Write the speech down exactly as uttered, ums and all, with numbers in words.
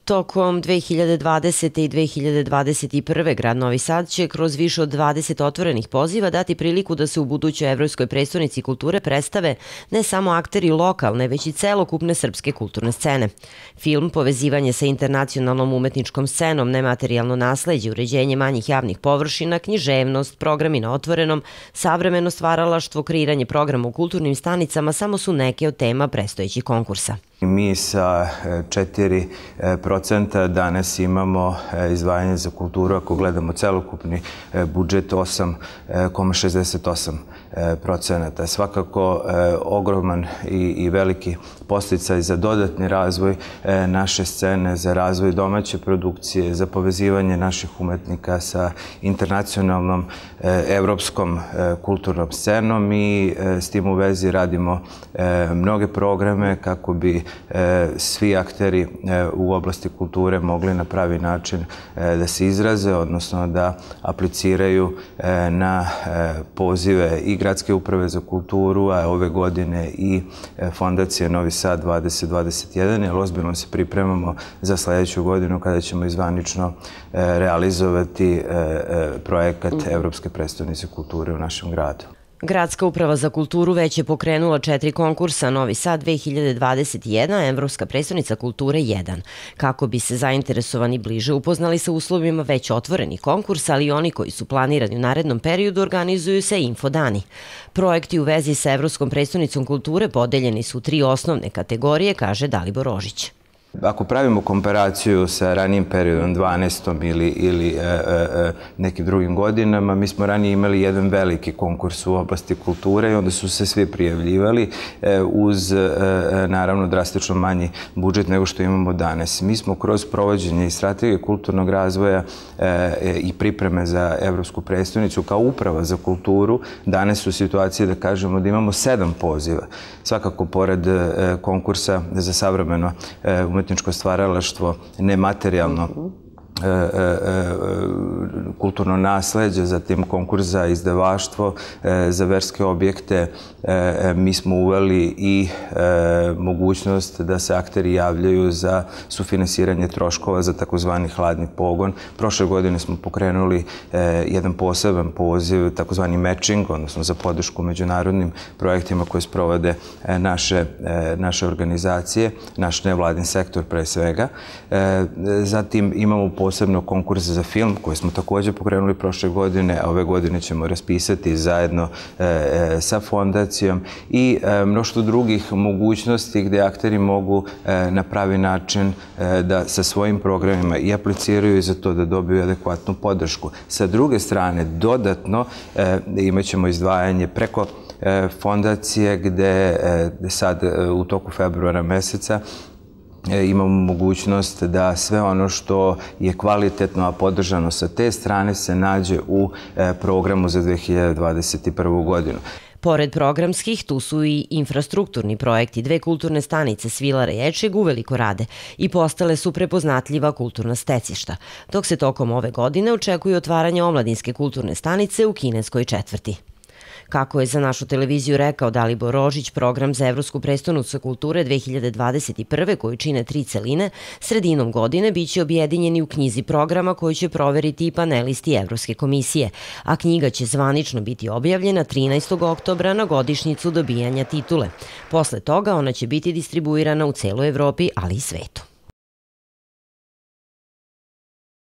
Tokom dve hiljade dvadesete. i dve hiljade dvadeset prve. grad Novi Sad će kroz više od dvadeset otvorenih poziva dati priliku da se u budućoj Evropskoj prestonici kulture predstave ne samo akteri lokalne, već i celokupne srpske kulturne scene. Film Povezivanje sa internacionalnom umetničkom scenom, nematerijalno nasleđe, uređenje manjih javnih površina, književnost, programi na otvorenom, savremeno stvaralaštvo, kreiranje programa u kulturnim stanicama samo su neke od tema predstojećih konkursa. Mi sa četiri procenta danas imamo izdvajanje za kulturu, ako gledamo celokupni budžet osam zarez šezdeset osam procenata. Svakako ogroman i veliki podsticaj za dodatni razvoj naše scene, za razvoj domaće produkcije, za povezivanje naših umetnika sa internacionalnom evropskom kulturnom scenom i s tim u vezi radimo mnoge programe kako bi svi akteri u oblasti kulture mogli na pravi način da se izraze, odnosno da apliciraju na pozive i Gradske uprave za kulturu, a ove godine i Fondacije Novi Sad dvadeset dvadeset jedan, jer ozbiljno se pripremamo za sledeću godinu kada ćemo izvanično realizovati projekat Evropske prestonice kulture u našem gradu. Gradska uprava za kulturu već je pokrenula četiri konkursa Novi Sad dve hiljade dvadeset jedan, Evropska prestonica kulture jedan. Kako bi se zainteresovani bliže upoznali sa uslovima već otvorenih konkursa, ali i oni koji su planirani u narednom periodu, organizuju se infodani. Projekti u vezi sa Evropskom prestonicom kulture podeljeni su u tri osnovne kategorije, kaže Dalibor Rožić. Ako pravimo komparaciju sa ranijim periodom, dvanaestom ili nekim drugim godinama, mi smo ranije imali jedan veliki konkurs u oblasti kulture i onda su se svi prijavljivali uz, naravno, drastično manji budžet nego što imamo danas. Mi smo kroz provođenje i strategije kulturnog razvoja i pripreme za Evropsku prestonicu kao uprava za kulturu danas u situaciji da kažemo da imamo sedam poziva. Svakako, pored konkursa za savremeno umetničko stvaralaštvo, nematerijalno kulturno nasleđe, zatim konkurs za izdavaštvo, za verske objekte. Mi smo uveli i mogućnost da se akteri javljaju za sufinansiranje troškova za takozvani hladni pogon. Prošle godine smo pokrenuli jedan poseban poziv, takozvani matching, odnosno za podršku međunarodnim projektima koje sprovode naše organizacije, naš nevladin sektor pre svega. Zatim imamo posebno konkurs za film koji smo također pokrenuli prošle godine, a ove godine ćemo raspisati zajedno sa fondacijom i mnoštvo drugih mogućnosti gde akteri mogu na pravi način da sa svojim programima i apliciraju za to da dobiju adekvatnu podršku. Sa druge strane, dodatno imat ćemo izdvajanje preko fondacije gde sad u toku februara meseca imamo mogućnost da sve ono što je kvalitetno, a podržano sa te strane, se nađe u programu za dve hiljade dvadeset prvu. godinu. Pored programskih, tu su i infrastrukturni projekti. Dve kulturne stanice Svilara i Ečeg uveliko rade i postale su prepoznatljiva kulturna stecišta, dok se tokom ove godine očekuje otvaranje omladinske kulturne stanice u Kineskoj četvrti. Kako je za našu televiziju rekao Dalibor Rožić, program za Evropsku prestonicu kulture dve hiljade dvadeset prve. koji čine tri celine, sredinom godine biće objedinjeni u knjizi programa koju će proveriti i panelisti Evropske komisije, a knjiga će zvanično biti objavljena trinaestog oktobra na godišnjicu dobijanja titule. Posle toga ona će biti distribuirana u celoj Evropi, ali i svetu.